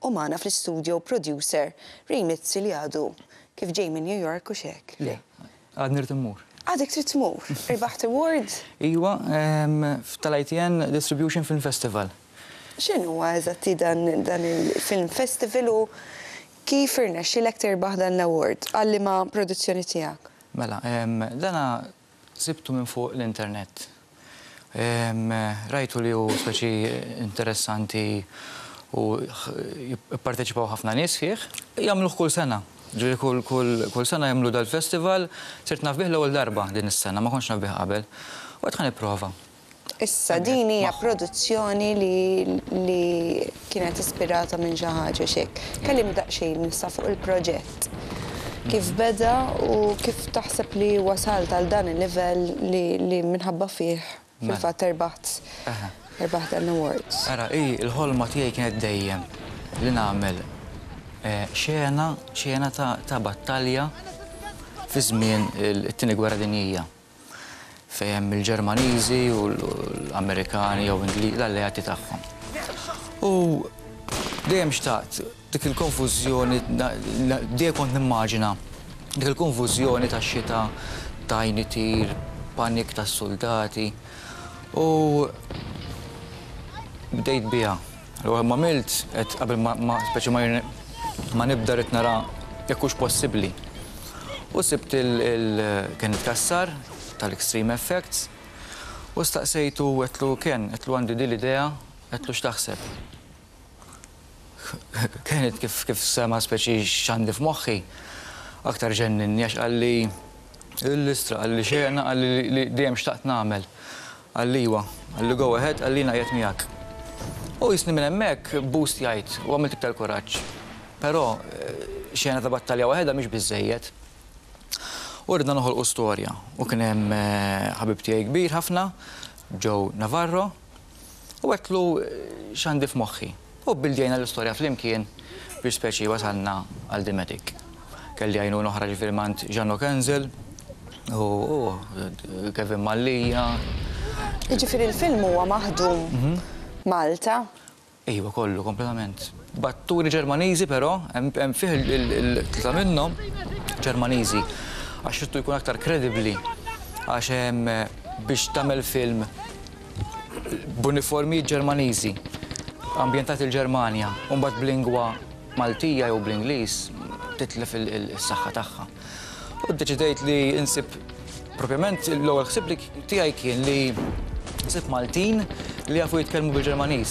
U magħna fl-istudio producer Ray Mizzi li għadu kif ġej minn New York hux hekk? Le, għadni rrid immur. Għadek trid tmur? Irbaħt award? Iwa, tal-ITN Distribution Film Festival. X'inhuwa eżatti dan dan il-film festival u kif irnexxielek tirbaħ dan l-award? Għal liema produzzjoni tiegħek? Mela, dana Sibtu minn fuq l-internet. Rajtu li hu speċi interessanti u jipparteċipaw ħafna nies fih. Jagħmluh kull sena. Ġifieri kull kull kull sena jagħmlu dal-festival. Sirt naf bih l-ewwel darba din is-sena, ma kontx naf bih qabel. U għedt ħa nipprova. Issa din hija produzzjoni li li kienet ispirata minn xi ħaġa x'hekk. Kellimni daqsxejn issa fuq il-proġett. Kif beda u kif taħseb li wasalt għal dan il-livell li li minħabba fih fil-fatt erbaħt erbaħt dan l-awards. Ara, hi l-ħolma tiegħi kienet dejjem li nagħmel xena xena ta' ta' battalja fi żmien it-Tieni Gwerra Dinjija. fejn hemm il-Ġermaniżi u l-Amerikani jew l-alleati tagħhom. U dejjem xtaqt dik il-konfużjoni, dejjem kont nimmaġina dik il-konfużjoni tax-xita, tajn itir, panik tas-suldati u bdejt biha. Allura m'għamilt, għedt qabel ma speċi ma nibda rrid nara jekk hux possibbli. U sibt il Kenneth Cassar tal-Extreme Effects u staqsejtu għedtlu Ken, għedtlu għandi din l-idea, għedtlu x'taħseb. Kenneth kif kif sema' speċi x'għandi f'moħħi, aktar ġenninni għax qalli l-istra, qalli xena, qalli li dejjem xtaqt nagħmel. Qalli iwa. Qalli go ahead, qalli jiena qiegħed miegħek. U jisni minn hemmhekk boostjajt u għamilt iktar kuraġġ. Però xena ta' battalja waħedha mhix biżżejjed. U ridna noħolqu storja. U kien hemm ħabib tiegħi kbir ħafna, Joe Navarro, u għedtlu x'għandi f'moħħi. U bbildjajna l-istorja flimkien biex speċi wasalna għal The Medic. Kelli għajnuna oħra ġifieri m'għand Jeannot Kenzel u Kevin Mallia. Jiġifieri l-film huwa maħdum Malta? Iva kollu kompletament. B'atturi Ġermaniżi però, hemm fih il-tlieta minnhom Ġermaniżi għax ridtu jkun aktar kredibbli għax biex tagħmel film b'uniformijiet Ġermaniżi, ambjentat il-Ġermanja, u mbagħad b'lingwa Maltija jew bl-Ingliż titlef is-saħħa tagħha. U ddeċidejt li nsib propjament l-ewwel ħsieb li tiegħi kien li nsib Maltin li jafu jitkellmu bil-Ġermaniż.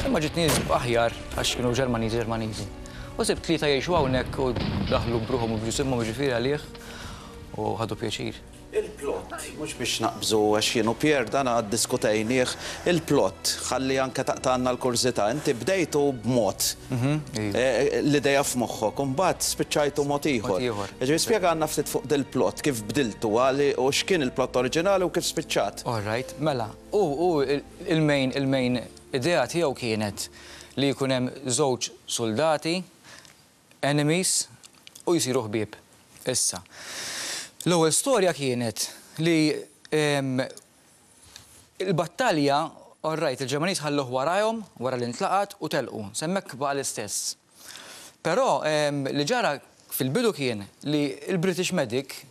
Imma ġietni aħjar għax kienu Ġermaniżi Ġermaniżi. U sibt tlieta jgħixu hawnhekk u daħlu b'ruħhom u b'ġisimhom jiġifieri għalih u ħadu pjaċir. Il-plot, mhux biex naqbżu għax jien u Pierre dan ddiskutejnieh, il-plot, ħalli anke taqtgħalna l-kurżità, inti bdejtu b'mod, l-idea f'moħħok, u mbagħad spiċċajtu mod ieħor. Jiġifieri spjegalna ftit fuq dil-plot, kif bdiltu u x'kien il-plot oriġinali u kif spiċċat. All right, mela, hu hu il-main il-main idea tiegħu kienet li jkun hemm żewġ suldati enemies u jsiru ħbieb. Issa, l-ewwel storja kienet li l-battalja, all right, il-Ġermaniż ħalluh warajhom wara li ntlaqat u telqu, s'hemmhekk baqa' l-istess. Però li ġara fil-bidu kien li l-British medic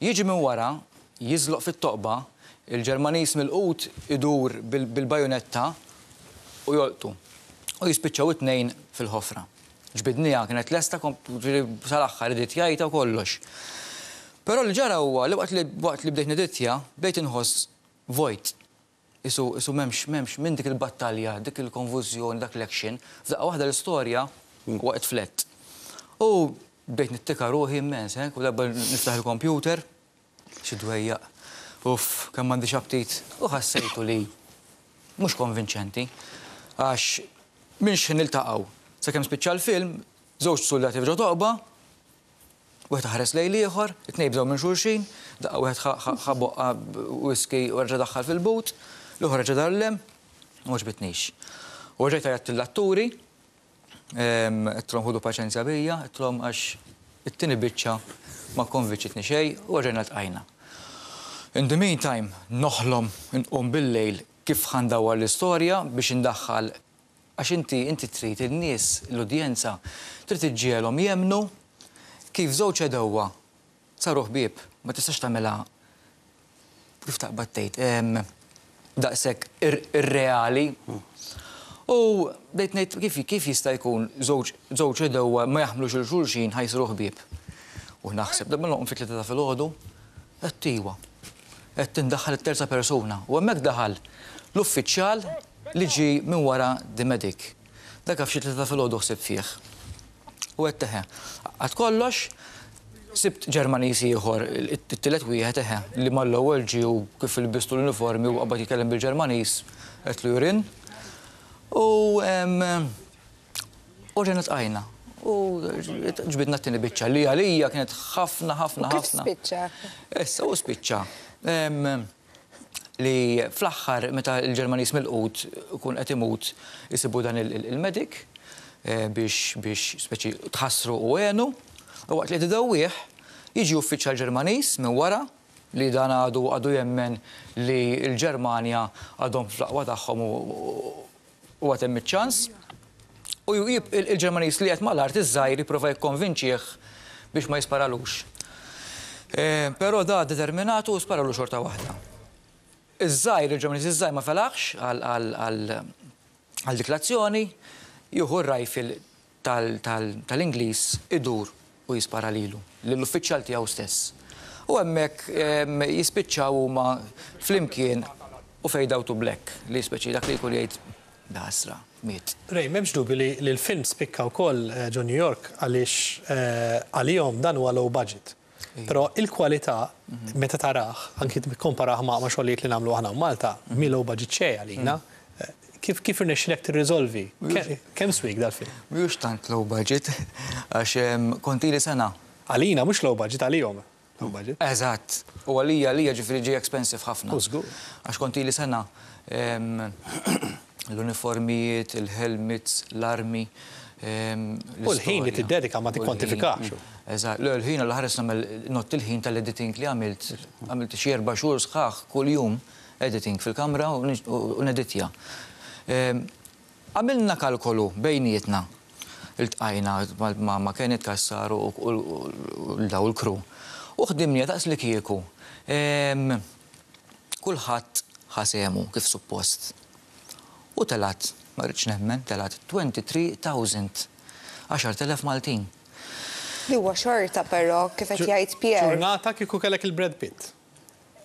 Jiġi minn wara, jiżloq fit-toqba, il-Ġermaniż milqut idur bil-bajunetta u jolqtu. U jispiċċaw it-tnejn fil-ħofra. Ġbidniha, kienet lesta, ġifieri sal-aħħar editjajtha u kollox. Però li ġara huwa li waqt li waqt li bdejt neditja, bdejt inħoss vojt. Qisu, qisu m'hemmx, m'hemmx minn dik il-battalja, dik il-konfużjoni, dak l-action, f'daqqa waħda l-istorja waqgħet flat. U bdejt nittika ruħi immens, eh, kull darba niftaħ il-kompjuter, xi dwejjaq, uff, kemm m'għandix aptit. U ħassejtu li mhux konvinċenti, għax minn x'ħin niltaqgħu sakemm spiċċa l-film, żewġ suldati f'ġo toqba, Wieħed ħares lejn l-ieħor, it-tnejn bdew minn xulxin, daqqa wieħed ħa boqqa whisky u reġa' daħħal fil-but, l-ieħor reġa' dar 'l hemm, u m'għoġbitnix. U reġgħet għajjatt lill-atturi, għedtilhom ħudu paċenzja bija, għedtilhom għax it-tieni biċċa ma kkonvinċitni xejn u reġgħajna ltqajna. In the meantime, noħlom inqum bil-lejl kif ħa ndawwar l-istorja biex indaħħal. Għax inti inti trid in-nies, l-udjenza, trid iġġiegħelhom jemmnu kif żewġ għedewwa saru ħbieb. Ma tistax tagħmilha kif taqbad tgħid daqshekk irreali. U bdejt ngħid kif kif jista' jkun żewġ żewġ għedewwa ma jaħmlux 'il xulxin ħa jsiru ħbieb. U naħseb, darba noqum fit-tlieta ta' filgħodu, għedt iwa. Qed tindaħħal it-terza persuna u hemmhekk daħal l-uffiċjal li ġie minn wara The Medic. Dak f'xi tlieta ta' filgħodu ħsibt fih. U għedt eħe. Għad kollox, sibt Ġermaniż ieħor, it-tielet wieħed eħe, li mal-ewwel ġie u kif ilbistu l-uniformi u qabad jitkellem bil-Ġermaniż, għedtlu you're in. U U rġajna tqajna. U ġbidna t-tieni biċċa li għalija kienet ħafna ħafna ħafna. Kif spiċċa? Issa u spiċċa. Li fl-aħħar meta l-Ġermaniż milqut ikun qed imut isibu dan il-medic biex biex speċi tħassru u għenu. U waqt li qed idewwih jiġi uffiċjal Ġermaniż minn wara li dan għadu għadu jemmen li l-Ġermanja għadhom fl-aqwa tagħhom u U għad hemm iċ-ċans. U il-Ġermaniż li qed mal-art iż-żgħir jipprova jikkonvinċih biex ma jisparalux. Però da determinat u sparalu xorta waħda. Iż-żgħir, il-Ġermaniż iż-żgħir ma felaħx għal dik l-azzjoni, jieħu r-rifle tal-Ingliż idur u jispara lilu, lill-uffiċjal tiegħu stess. U hemmhekk jispiċċaw huma flimkien u fade out to black, li speċi dak li jkun jgħid ħasra, miet. Ray, m'hemmx dubju li l-film spikka wkoll ġo New York għaliex għalihom dan huwa low budget. Però il-kwalità meta tarah, anki tikkomparah ma' xogħlijiet li nagħmlu aħna Malta, mhi low budget xejn għalina. Kif kif irnexxilek tirriżolvi? Kemm swiek dal-film? Mhux tant low budget, għax kont ili sena. Għalina mhux low budget, għalihom low budget. Eżatt. U għalija għalija ġifieri ġie expensive ħafna. U żgur. Għax kont ili sena l-uniformijiet, il-helmets, l-armi. U l-ħin li tiddedika ma tikkwantifikax. Eżatt. Le, l-ħin għal ħares nagħmel ngħodd il-ħin tal-editing li għamilt. Għamilt xi 4 xhur sħaħ kuljum editing fil-kamra u neditja. Għamilna kalkolu bejnietna. Iltqajna ma' Kenneth Cassar u daw il-crew. U ħdimniha daqs li kieku. Kulħadd ħa sehmu kif suppost. U telgħet, ma rridx nemmen, telgħet 23,000, 10,000 Maltin. Li huwa xorta però, kif qed jgħid Pierre. Ġurnata kieku kellek il-Brad Pitt.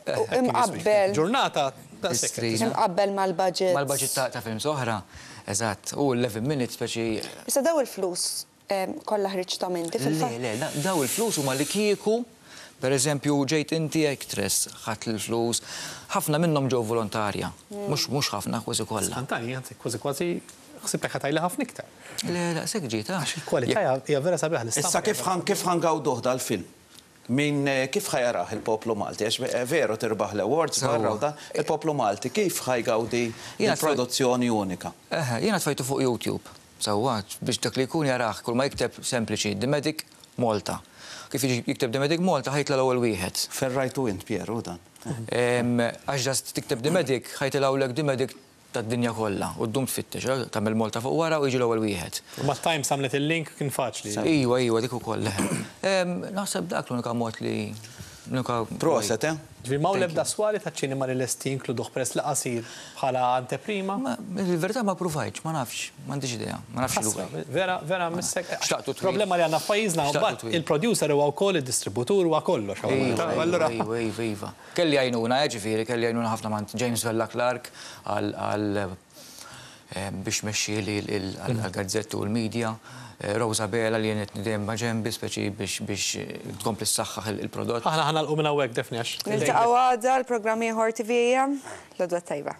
Imqabbel. Ġurnata daqshekk. Imqabbel mal-budget. Mal-budget ta' films oħra, eżatt. U 11 minutes speċi. Issa daw il-flus kollha ħriġthom inti fil-fatt? Le, le, daw il-flus huma li kieku, per eżempju, ġejt inti actress, ħadt il-flus, ħafna minnhom ġew volontarja. Mhux mhux ħafna, kważi kollha. Skantani, anzi, kważi kważi ħsibtek ħa tgħidli ħafna iktar. Le, daqshekk ġiet, ah. Għax il-kwalità hija vera sabiħa l-istampa. Issa kif ħa kif ħa ngawduh dal-film? Min kif ħa jarah il-poplu Malti? Għax veru tirbaħ l-awards barra u dan, il-poplu Malti kif ħa jgawdi produzzjoni unika? Eħe, jiena tfajtu fuq YouTube, sewwa, biex dak li jkun jarah, kull ma jikteb sempliċi The Medic Malta. Kif jiġi jikteb The Medic Malta ħa jitla' l-ewwel wieħed. Fejn rajtu int, Pier, hu dan? Għax just tikteb The Medic, ħa jitilgħulek The Medic tad-dinja kollha u ddum tfittex, tagħmel Malta fuq wara u jiġi l-ewwel wieħed. U mat-Times għamlet il-link kien faċli. Iwa, iwa, dik ukoll, eħe. Naħseb dak l-unika mod li l-unika. Proset, eh? Ġifieri m'hawn l-ebda swali taċ-ċinema li lesti jinkluduh peress li qasir bħala anteprima? Il-verità ma ppruvajtx, ma nafx, m'għandix idea, ma nafx Ħasra, vera, vera missek. Xtaqtu twil. Problema li għandna f'pajjiżna mbagħad il-producer huwa wkoll id-distributur huwa kollox. Iva, iva, iva, iva. Kelli għajnuna, ġifieri, kelli għajnuna ħafna m'għand James Vella Clark għal biex mexxieli għall-gazzetti u l-media, Rosa Bela li għenitni dejjem ma' ġenbi speċi biex tkompli ssaħħaħ il-prodott. Aħna ħa nagħlqu minn hawnhekk Daphne għax. Niltaqgħu għada l-programm ieħor TVAM. L-għodwa t-tajba.